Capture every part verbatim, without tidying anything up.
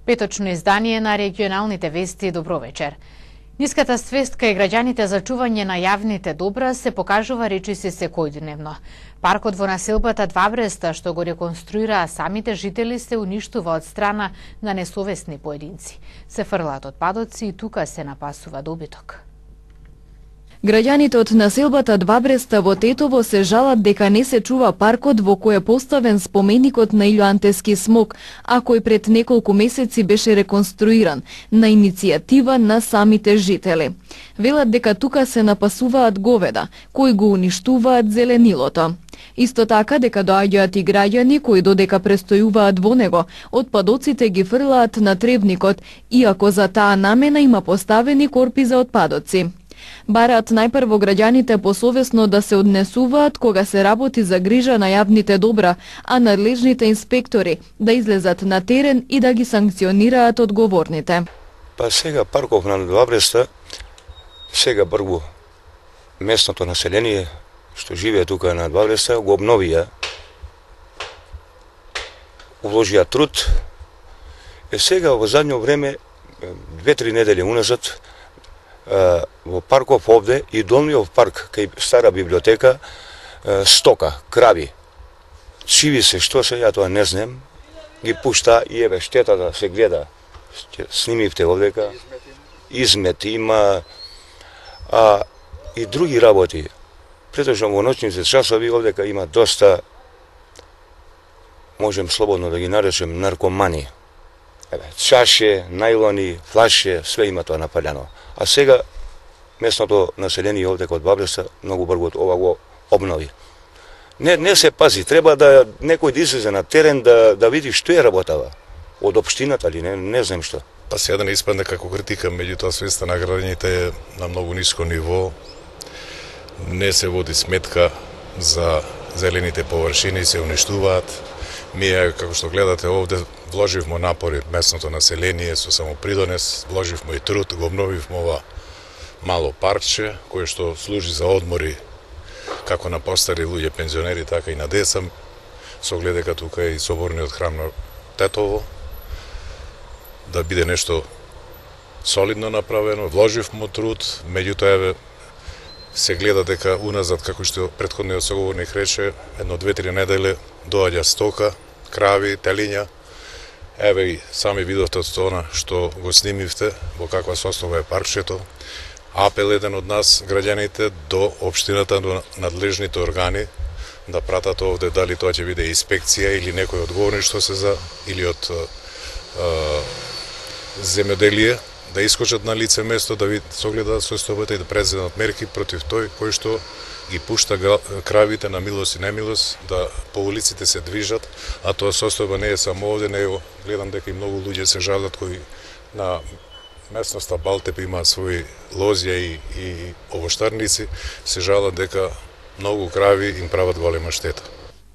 Петочно издание на регионалните вести. Добро вечер. Ниската свест кај граѓаните за чување на јавните добра се покажува речиси секојдневно. Паркот во населбата Два Бреста, што го реконструираа самите жители, се уништува од страна на несовесни поединци. Се фрлаат отпадоци и тука се напасува добиток. Граѓаните од населбата Два Бреста во Тетово се жалат дека не се чува паркот во кој е поставен споменикот на Илјоантески смок, а кој пред неколку месеци беше реконструиран на иницијатива на самите жители. Велат дека тука се напасуваат говеда, кои го уништуваат зеленилото. Исто така дека доаѓаат и граѓани кои додека престојуваат во него, отпадоците ги фрлаат на требникот, иако за таа намена има поставени корпи за отпадоци. Бараат најпрво граѓаните посовесно да се однесуваат кога се работи за грижа на јавните добра, а надлежните инспектори да излезат на терен и да ги санкционираат одговорните. Па сега парков на Два Бреста, сега прво местното население што живее тука на Два Бреста го обновија, уложија труд. Е сега во задњо време, две-три недели уназад, во парков овде и долниот парк кај стара библиотека, стока, крави, чиви се, што се, ја тоа не знам, ги пушта и еве штета да се гледа. Снимивте овдека, измет има, а и други работи. Претежно во ноќните часови овдека има доста, можем слободно да ги наречем, наркомани. Еве, чаше, најлони, флаше, све има тоа напалено. А сега местното население овде од Два Бреста многу брзо ова го обнови. Не не се пази, треба да некој да излезе на терен да да види што е работава од општината или не, не знам што. Па сега да не испадне како критика, меѓутоа свеста на граѓаните е на многу ниско ниво. Не се води сметка за зелените површини, се уништуваат. Ние, како што гледате овде, вложивме напори местното население со самопридонес, вложивме и труд, го обновивме ова мало паркче, кое што служи за одмори како на постари луѓе пензионери, така и на деца, со оглед дека тука е и соборниот храм на Тетово, да биде нешто солидно направено, вложивме труд, меѓутоа еве се гледа дека уназад, како што претходниот соговорник рече, едно две-три недели доаѓа стока, крави, телиња. Еве и сами видовте од тоа што го снимивте, во каква состојба е паркчето. Апел еден од нас, граѓаните, до општината, до надлежните органи, да пратат овде дали тоа ќе биде инспекција или некој одговорни што се за, или од а, земјоделие, да искочат на лице место, да видат согледаат состојбата и да преземат мерки против тој кој што ги пушта кравите на милост и немилост, да по улиците се движат, а тоа состојба не е само овде, него гледам дека и многу луѓе се жалат кои на местноста Балтеп имаат своји лозија и, и овоштарници, се жалат дека многу крави им прават голема штета.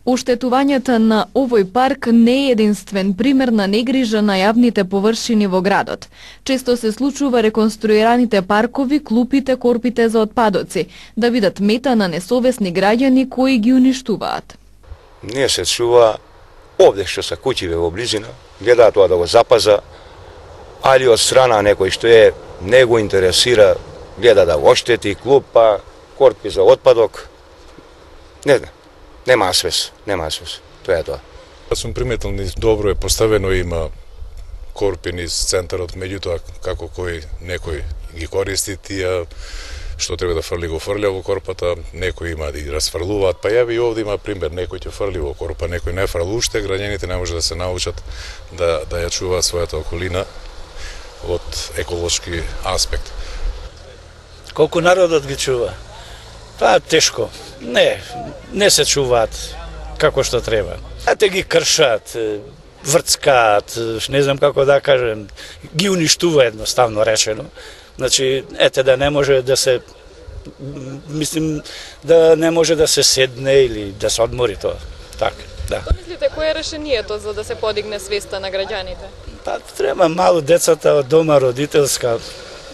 Оштетувањето на овој парк не е единствен пример на негрижа на јавните површини во градот. Често се случува реконструираните паркови, клупите, корпите за отпадоци да бидат мета на несовесни граѓани кои ги уништуваат. Не се чува овде што се куќиве во близина, гледаат тоа да го запаза, али од страна некој што е не го интересира, гледа да го оштети, клупа, корпи за отпадок. Не знам. Нема свес, нема свес. Тоа е тоа. Јас сум приметил низ добро е поставено, има корпи низ центарот, меѓутоа како кој некој ги користи тие, што треба да фрли го фрля во корпата, некои има да ги расфрлуваат, па јави и овде има пример, некој ќе фрли во корпа, некој не фрли уште, граѓаните не може да се научат да да ја чуваат својата околина од еколошки аспект. Колку народот ги чува? Па тешко. Не, не се чуваат како што треба. А те ги кршат, врцкаат, не знам како да кажем, ги уништува едноставно речено. Значи, ете да не може да се, мислим, да не може да се седне или да се одмори тоа. Така, да. Што мислите, кој е решението за да се подигне свеста на граѓаните? Па треба мало децата од дома, родителска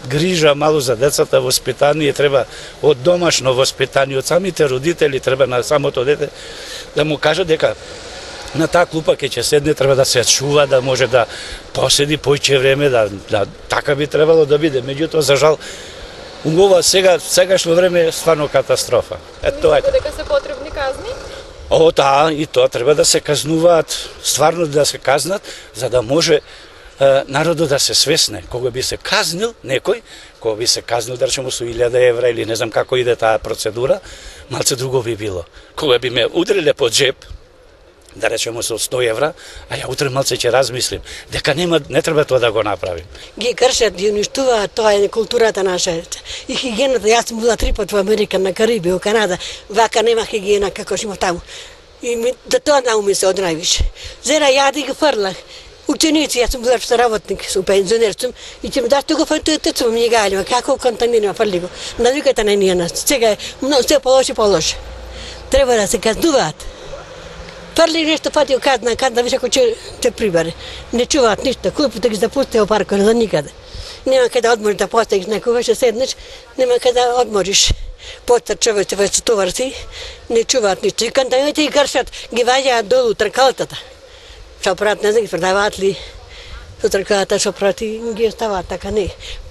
грижа, мало за децата, воспитание, треба од домашно воспитание, од самите родители, треба на самото дете да му кажа дека на таа клупа ќе ќе седне, треба да се чува, да може да поседи појче време, да, да така би требало да биде. Меѓутоа, за жал, ова сега сегашно време е стварно катастрофа. Ето тоа е. Мислите дека се потребни казни? О, да, и тоа треба да се казнуваат, стварно да се казнат, за да може е, народот да се свесне. Кога би се казнил некој, кога би се казнил, да речемо, со илјада евра или не знам како иде таа процедура, малце друго би било. Кога би ме удриле под джеб, да речемо со сто евра, а ја утре малце ќе размислим, дека нема, не треба тоа да го направим. Ги кршат, ги уништуваат, тоа е културата наша. И хигиената, јас сум била три пат во Америка, на Кариби, во Канада, вака нема хигиена како што има таму. И ми, да тоа науми се од највише. Зера јади ги фрлах. Ученици, јас сум била работник, сум пензионер сум, и ќе ми даш тоа фрли, тецо ми галива, како контаминира фрли го. Навиката на ние нас, сега е многу се полоши полоши. Треба да се казнуваат. Фрли нешто фати казна, казна више ако ќе те прибаре. Не чуваат ништо, клупите ги запусти во паркот за никаде. Нема каде одмориш да постигнеш, некој веше седнеш, нема каде одмориш. Поцар човече веќе товар си, не чуваат ништо. И контамините ги кршат, ги ваѓаат долу тркалтата. Што прават, не знам, ги продаваат ли со тркалата, што прават и ги оставаат така, не.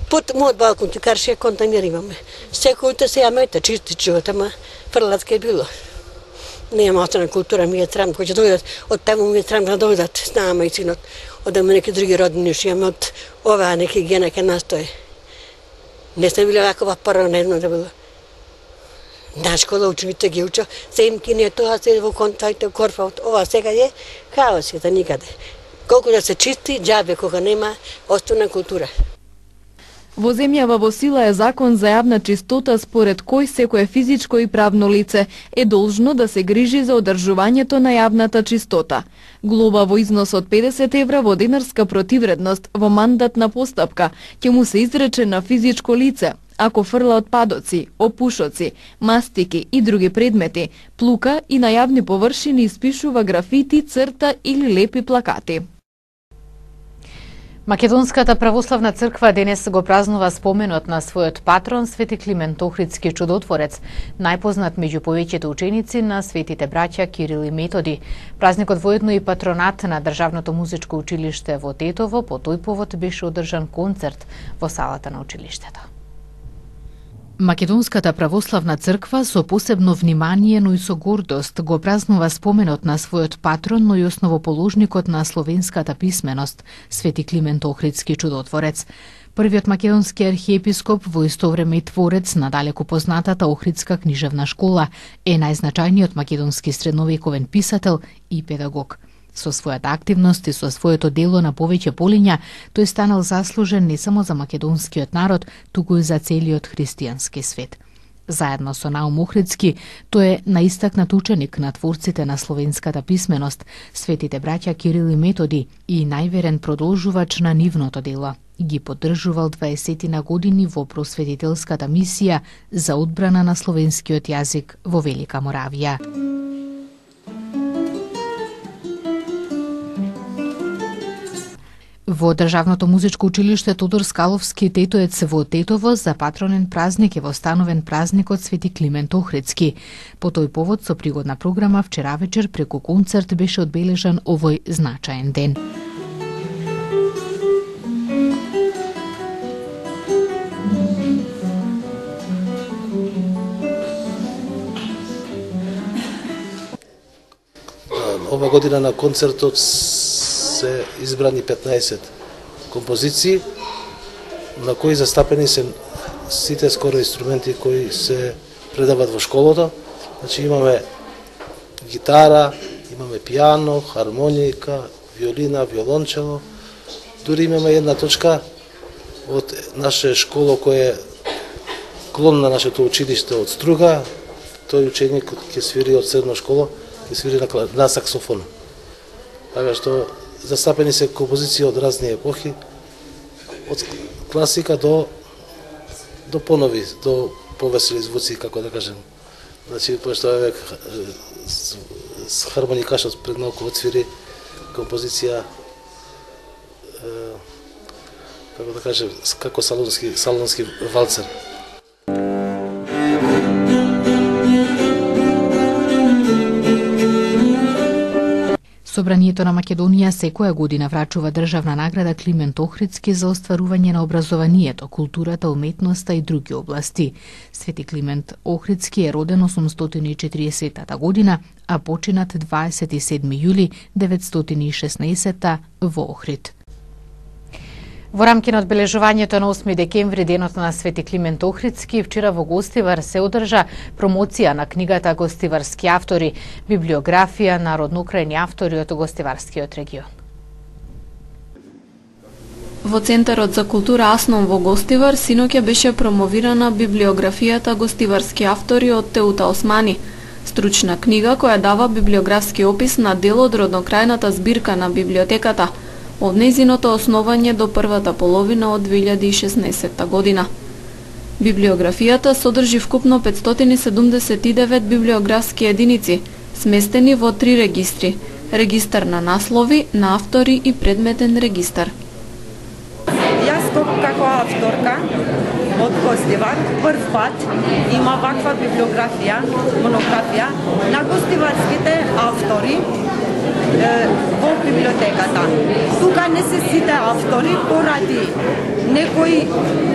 Под мојот балкон ти карше контамир имаме. Секој утре се јамете, чисти живот, ама фрлатка е било. Нема остана култура, ми е срам, кој ќе дојдат, од таму ми е срам да дојдат с нама и синот, одаме неки други роднини, што имаме од оваа неки гена ке настои. Не сме били вакова прво, не знам да било. На школа учените ги уча, се им кине тоа, се во контакте, корфа, ова сега е хаос е за никаде. Колку да се чисти, џабе кога нема остана култура. Во земјава во сила е закон за јавна чистота според кој секое физичко и правно лице е должно да се грижи за одржувањето на јавната чистота. Глоба во износ од педесет евра во денарска противредност во мандатна постапка ќе му се изрече на физичко лице ако фрла отпадоци, опушоци, мастики и други предмети, плука и на јавни површини испишува графити, црта или лепи плакати. Македонската православна црква денес го празнува споменот на својот патрон Свети Климент Охридски чудотворец, најпознат меѓу повеќето ученици на светите браќа Кирил и Методи. Празникот воедно и патронат на Државното музичко училиште во Тетово. По тој повод беше одржан концерт во салата на училиштето. Македонската православна црква со посебно внимание, но и со гордост го празнува споменот на својот патрон, но и основоположникот на словенската писменост, Свети Климент Охридски чудотворец. Првиот македонски архиепископ, во исто време и творец на далеко познатата Охридска книжевна школа, е најзначајниот македонски средновековен писател и педагог. Со својата активност и со своето дело на повеќе полиња, тој станал заслужен не само за македонскиот народ, туку и за целиот христијански свет. Заедно со Наум Охридски, тој е наистакнат ученик на творците на словенската писменост, светите браќа Кирил и Методи, и најверен продолжувач на нивното дело. Ги поддржувал дваесет години во просветителската мисија за одбрана на словенскиот јазик во Велика Моравија. Во Државното музичко училиште Тодор Скаловски Тетоец во Тетово за патронен празник е востановен празникот Свети Климент Охридски. По тој повод со пригодна програма вчера вечер преку концерт беше одбележан овој значаен ден. Ова година на концертот се избрани петнаесет композиции, на кои застапени се сите скоро инструменти кои се предават во школата. Значи имаме гитара, имаме пијано, хармоника, виолина, виолончело. Дури имаме една точка од наша школа која е клон на нашето училиште од Струга. Тој ученик ќе свири од средна школа, ќе свири на, на саксофон. Така што застапени се композиции од разни епохи, од класика до до понови, до повесели звуци, како да кажем. Значи, пошто еве с хармоникашот пред малку отсвири композиција, како да кажем, како салонски салонски валцер. Собранието на Македонија секоја година врачува државна награда Климент Охридски за остварување на образованието, културата, уметноста и други области. Свети Климент Охридски е роден осумстотини и четиридесетата година, а починат дваесет и седми јули деветстотини и шеснаесетта во Охрид. Во рамки на одбележувањето на осми декември, денот на Свети Климент Охридски, вчера во Гостивар се одржа промоција на книгата Гостиварски автори, библиографија на родноукрајни автори од Гостиварскиот регион. Во Центарот за култура Аснон во Гостивар синоќа беше промовирана библиографијата Гостиварски автори од Теута Османи, стручна книга која дава библиографски опис на дел од роднокрајната збирка на библиотеката, од нејзиното основање до првата половина од две илјади и шеснаесетта година. Библиографијата содржи вкупно петстотини и седумдесет и девет библиографски единици, сместени во три регистри: регистар на наслови, на автори и предметен регистар. Јас како авторка од Гостивар прв пат има ваква библиографија, монографија на гостиварските автори во библиотеката. Тука не се сите автори поради некои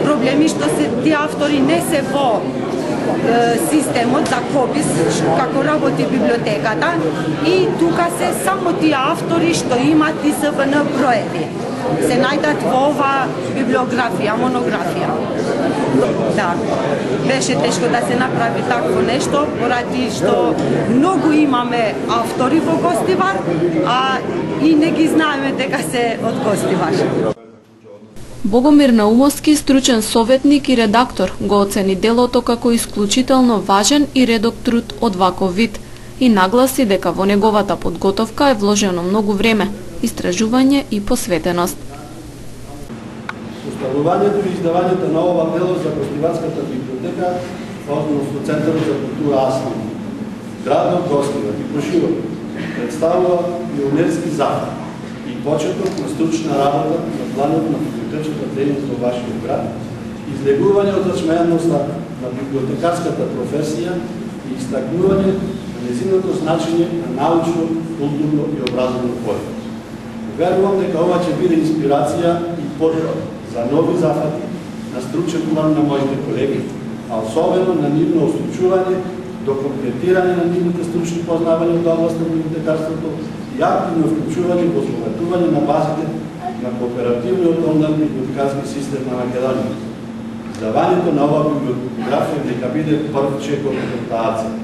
проблеми што се тие автори не се во системот за копис како работи библиотеката и тука се само тие автори што имаат И С Б Н броеви. Се најдат во ова библиографија, монографија. Да, беше тешко да се направи такво нешто, поради што многу имаме автори во Гостивар, а и не ги знаеме дека се од Гостивар. Богомир Наумовски, стручен советник и редактор, го оцени делото како исклучително важен и редок труд од ваков вид и нагласи дека во неговата подготовка е вложено многу време, истражување и посветеност. Установувањето и издавањето на ова дело за Гостиварската библиотека, односно Центарот за култура Аснон, градот Гостивар и поширок, представува пионерски захват и почеток на стручна работа на планот на библиотечната дејност во вашиот град, излегување од зачменоста на библиотекарската професија и истакнување на незиното значење на научно, културно и образовно поле. Верувам дека ова ќе биде инспирација и потреб за нови зафати на стручен план на моите колеги, а особено на нивно освечување до комплетирање на нивните стручни познавања од област на библиотекарството и активно вклучување во збогатување на базите на кооперативниот онлайн библиотекарски систем на Македонија. Издавањето на ова библиографија нека биде прв чекор од таа цел.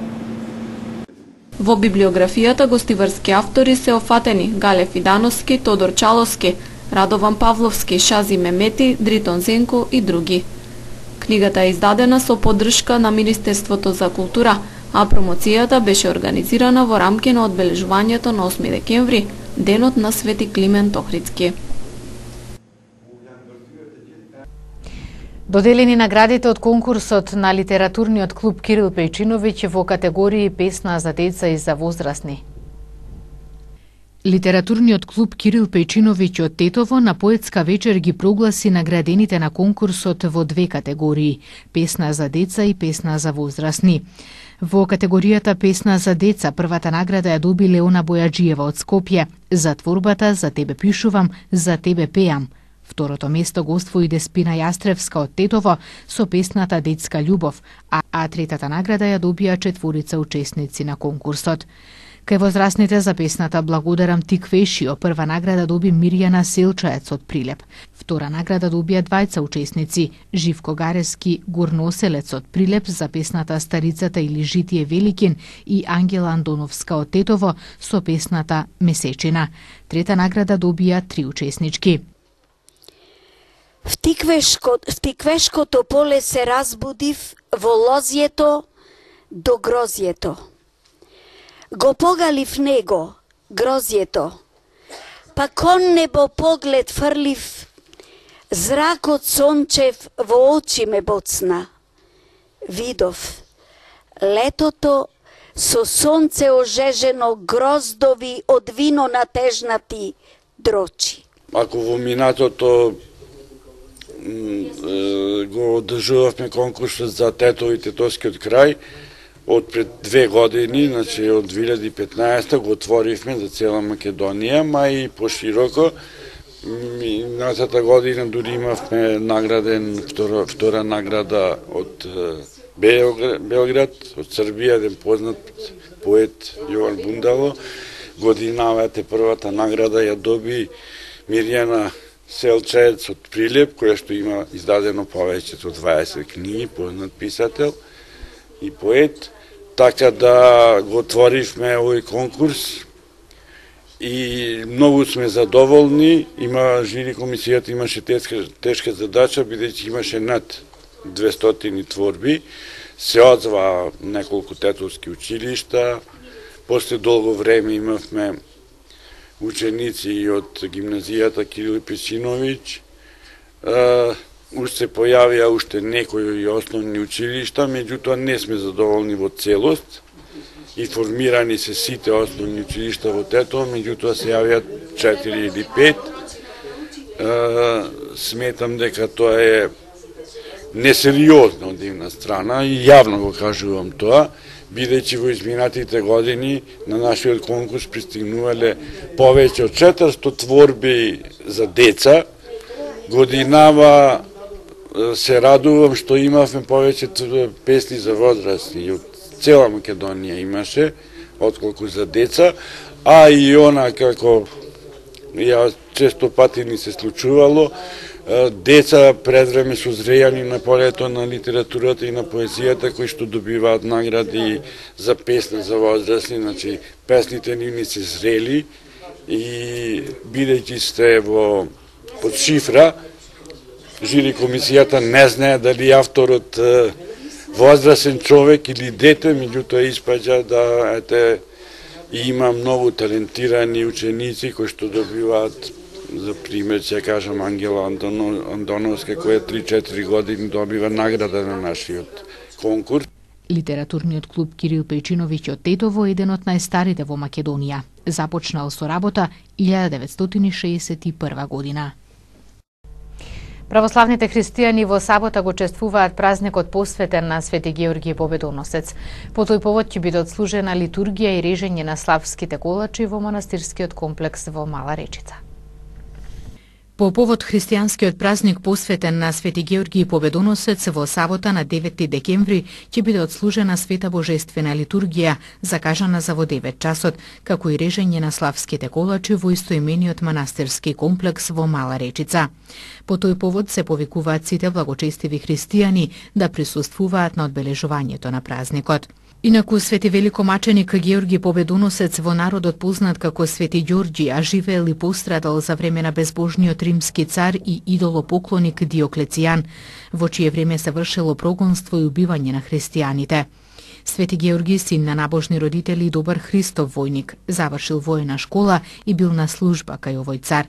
Во библиографијата гостиварски автори се офатени Гале Фидановски, Тодор Чаловски, Радован Павловски, Шази Мемети, Дритон Зенко и други. Книгата е издадена со поддршка на Министерството за култура, а промоцијата беше организирана во рамки на одбележувањето на осми декември, денот на Свети Климент Охридски. Доделени наградите од конкурсот на литературниот клуб Кирил Пејчиновиќ во категории песна за деца и за возрастни. Литературниот клуб Кирил Пејчиновиќ од Тетово на поетска вечер ги прогласи наградените на конкурсот во две категории – песна за деца и песна за возрастни. Во категоријата песна за деца првата награда ја доби Леона Бојаджиева од Скопје за творбата За тебе пишувам, за тебе пеам. Второто место го освои Деспина Јастревска од Тетово со песната Детска љубов, а, а третата награда ја добија четворица учесници на конкурсот. Кај возрастните за песната Благодарам ти Квешио прва награда доби Мирјана Селчаец од Прилеп. Втора награда добија двајца учесници, Живко Гарески Горноселец од Прилеп за песната Старицата или Житие Великин и Ангела Андоновска од Тетово со песната Месечина. Трета награда добија три учеснички. В тиквешкото, в тиквешкото поле се разбудив во лозјето до грозјето. Го погалив него, грозјето, па кон небо поглед фрлив, зракот сончев во очи ме боцна. Видов летото со сонце ожежено, гроздови од вино натежнати дрочи. Ако во минатото го одржувавме конкурсот за Тетово и Тетовскиот крај, од пред две години, значи од две илјади и петнаесета го отворивме за цела Македонија, ма и пошироко. Минатата година дури имавме награден втора, втора награда од Белград, од Србија, еден познат поет Јован Бундало. Годинава те првата награда ја доби Мирјана Селчаец од Прилеп, која што има издадено повеќе од дваесет книги, познат писател и поет. Така да го отворивме овој конкурс и многу сме задоволни. Има жири комисијата имаше тешка, тешка задача, бидејќи имаше над двестотини творби. Се одзва неколку тетовски училишта. После долго време имавме ученици од гимназијата Кирил Песиновиќ. Уште се појавија уште некои основни училишта, меѓутоа не сме задоволни во целост. И формирани се сите основни училишта во Тетово, меѓутоа се јавиат четири или пет. Сметам дека тоа е несериозно од една страна и јавно го кажувам тоа, бидејќи во изминатите години на нашиот конкурс пристигнувале повеќе од четиристо творби за деца. Годинава се радувам што имавме повеќе песни за возрастни, од цела Македонија имаше, отколку за деца, а и она како ја често пати ни се случувало, деца пред време созрејани на полето на литературата и на поезијата, кои што добиваат награди за песна за возрастни, значи песните ни се зрели и бидејќи сте во под шифра, жири комисијата не знае дали авторот возрастен човек или дете, меѓутоа испаѓа да ете има многу талентирани ученици кои што добиваат, за пример ќе кажам Ангела Андоновска, која три-четири години добива награда на нашиот конкурс. Литературниот клуб Кирил Пејчиновиќ од Тетово е еден од најстарите во Македонија. Започнал со работа илјада деветстотини шеесет и прва година. Православните христијани во сабота го чествуваат празникот посветен на Свети Георгиј Победоносец. По тој повод ќе биде отслужена литургија и режење на славските колачи во манастирскиот комплекс во Мала Речица. По повод христијанскиот празник посветен на Свети Георгиј Победоносец во сабота на деветти декември ќе биде отслужена света божествена литургија, закажана за во девет часот, како и режење на славските колачи во истоимениот манастирски комплекс во Мала Речица. По тој повод се повикуваат сите благочестиви христијани да присуствуваат на одбележувањето на празникот. Инаку Свети великомаченик Георги Победоносец, во народот познат како Свети Ѓорѓи, а живеел и пострадал за време на безбожниот римски цар и идолопоклоник Диоклецијан, во чие време се вршело прогонство и убивање на христијаните. Свети Георги, син на набожни родители и добар Христов војник, завршил воена школа и бил на служба кај овој цар.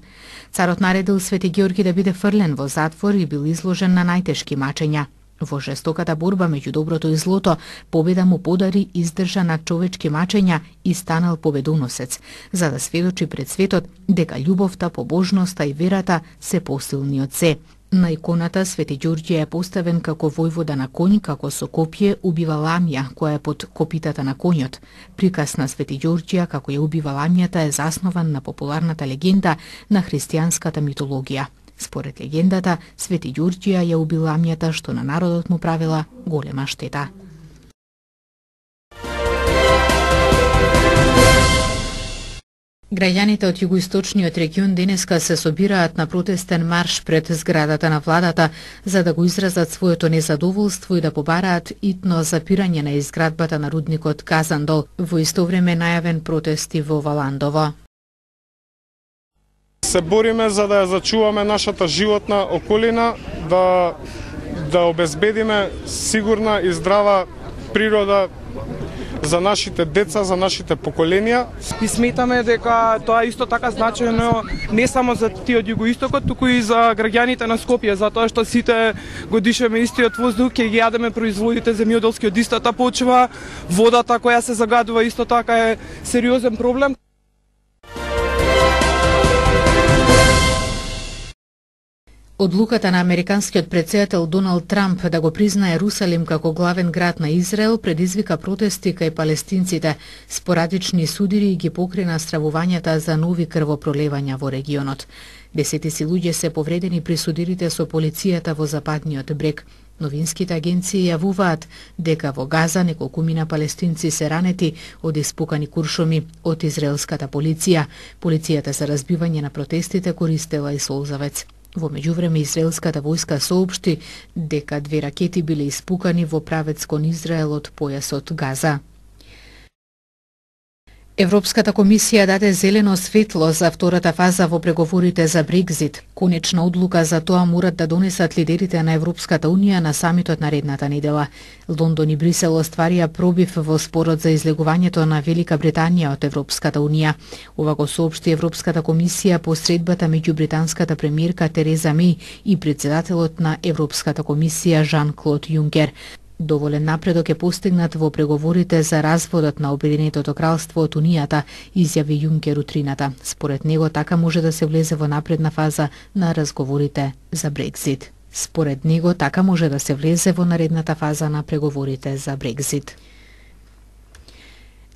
Царот наредил Свети Георги да биде фрлен во затвор и бил изложен на најтешки мачења. Во жестоката борба меѓу доброто и злото, победа му подари издржан над човечки мачења и станал победоносец, за да сведочи пред светот дека љубовта, побожноста и верата се посилни од се. На иконата Свети Ѓорѓе е поставен како војвода на конј, како со копје убива ламја, која е под копитата на конјот. Приказ на Свети Ѓорѓија како ја убива ламјата е заснован на популарната легенда на христијанската митологија. Според легендата, Свети Ѓорѓија ја уби ламјата што на народот му правила голема штета. Граѓаните од југоисточниот регион денеска се собираат на протестен марш пред зградата на владата за да го изразат своето незадоволство и да побараат итно запирање на изградбата на рудникот Казандол. Во исто време најавен протести во Валандово. Се бориме за да ја зачуваме нашата животна околина, да да обезбедиме сигурна и здрава природа за нашите деца, за нашите поколенија. И сметаме дека тоа е исто така значајно не само за тие од југоистокот, туку и за граѓаните на Скопје, затоа што сите го дишеме истиот воздух, ќе ги јадеме производите земјоделски од истата почва, водата која се загадува исто така е сериозен проблем. Одлуката на американскиот претседател Доналд Трамп да го признае Русалим како главен град на Израел предизвика протести кај палестинците. Спорадични судири ги покрена стравувањата за нови крвопролевања во регионот. Десетици луѓе се повредени при судирите со полицијата во западниот брег. Новинските агенции јавуваат дека во Газа неколкумина палестинци се ранети од испукани куршуми од израелската полиција. Полицијата за разбивање на протестите користела и солзавец. Во меѓувреме израелската војска соопшти дека две ракети биле испукани во правец кон Израел од појасот Газа. Европската комисија даде зелено светло за втората фаза во преговорите за Брекзит. Конечна одлука за тоа морат да донесат лидерите на Европската унија на самитот наредната недела. Лондон и Брисел остварија пробив во спорот за излегувањето на Велика Британија од Европската унија. Ова го соопшти Европската комисија по средбата меѓу британската премиерка Тереза Меј и председателот на Европската комисија Жан-Клод Јункер. Доволен напредок е постигнат во преговорите за разводот на Обединетото кралство од Унијата, изјави Јункер утрината. Според него така може да се влезе во напредна фаза на разговорите за Брекзит. Според него така може да се влезе во наредната фаза на преговорите за Брекзит.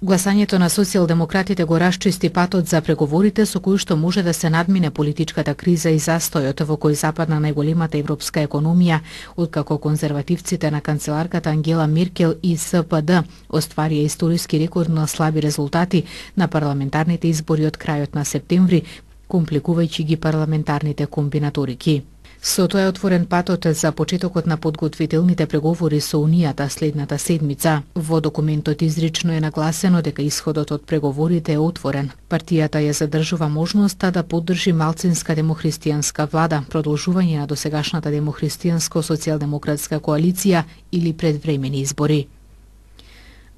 Гласањето на социјалдемократите го расчисти патот за преговорите со кои што може да се надмине политичката криза и застојот во кој западна најголемата европска економија, откако конзервативците на канцеларката Ангела Меркел и С П Д остварија историски рекордно слаби резултати на парламентарните избори од крајот на септември, компликувајќи ги парламентарните комбинаторики. Со тоа е отворен патот за почетокот на подготвителните преговори со Унијата следната седмица. Во документот изрично е нагласено дека исходот од преговорите е отворен. Партијата ја задржува можноста да поддржи малцинска демохристијанска влада, продолжување на досегашната демохристијанско-социјалдемократска коалиција или предвремени избори.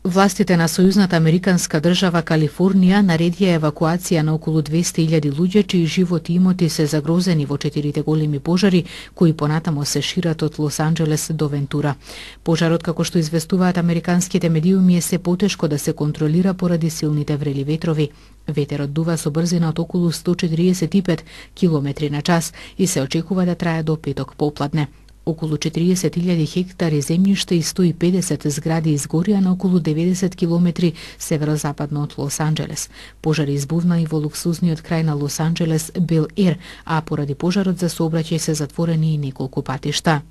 Властите на Сојузната американска држава Калифорнија наредија евакуација на околу двесте илјади луѓе чии живот и имоти се загрозени во четирите големи пожари кои понатамо се шират од Лос Анџелес до Вентура. Пожарот, како што известуваат американските медиуми, е се потешко да се контролира поради силните врели ветрови. Ветерот дува со брзина од околу сто четиридесет и пет километри на час и се очекува да трае до петок попладне. Околу четиридесет илјади хектари земјиште и сто и педесет згради изгорија на околу деветдесет километри северозападно од Лос Анџелес. Пожари избувна и во луксузниот крај на Лос Анџелес Бел Ер, а поради пожарот за сообраќај се затворени и неколку патишта.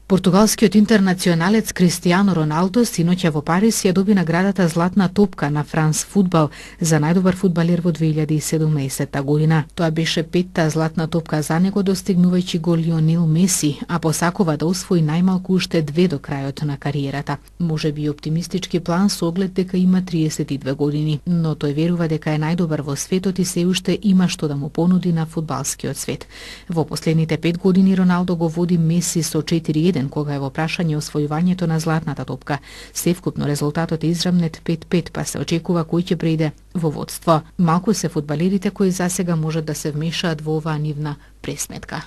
Португалскиот интернационалец Кристијано Роналдо синоќа во Париз ја доби наградата Златна топка на Франс Фудбал за најдобар фудбалер во две илјади и седумнаесетта година. Тоа беше петта златна топка за него, достигнувајќи го Лионел Меси, а посакува да освои најмалку уште две до крајот на кариерата. Може би оптимистички план со оглед дека има триесет и две години, но тој верува дека е најдобар во светот и се уште има што да му понуди на фудбалскиот свет. Во последните пет години Роналдо го води Меси со четири еден кога е во прашање освојувањето на златната топка. Севкупно резултатот е израмнет пет пет, па се очекува кој ќе прејде во водство. Малку се фудбалерите кои засега можат да се вмешаат во оваа нивна пресметка.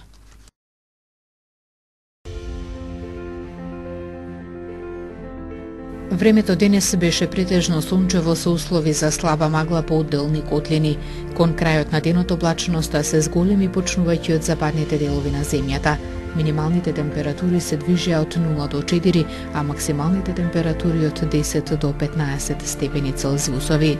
Времето денес беше претежно сончево со услови за слаба магла по одделни котлини. Кон крајот на денот облачноста се зголеми почнувајќи од западните делови на земјата. Минималните температури се движеа од нула до четири, а максималните температури од десет до петнаесет степени Целзиусови.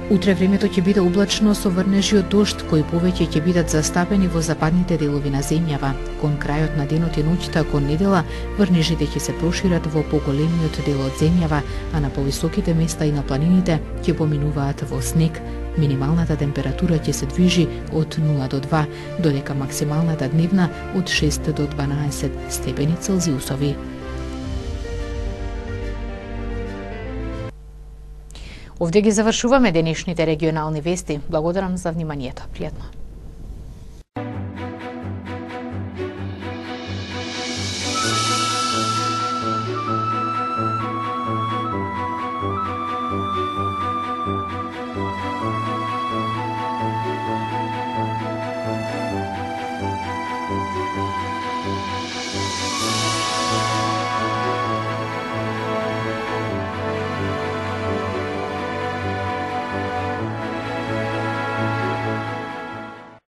Утре времето ќе биде облачно со врнежи од дожд, кои повеќе ќе бидат застапени во западните делови на земјава. Кон крајот на денот и ноќта кон недела, врнежите ќе се прошират во поголемиот дел од земјава, а на повисоките места и на планините ќе поминуваат во снег. Минималната температура ќе се движи од нула до два, додека максималната дневна од шест до дванаесет степени Целзиусови. Овде ги завршуваме денешните регионални вести. Благодарам за вниманието. Пријатно.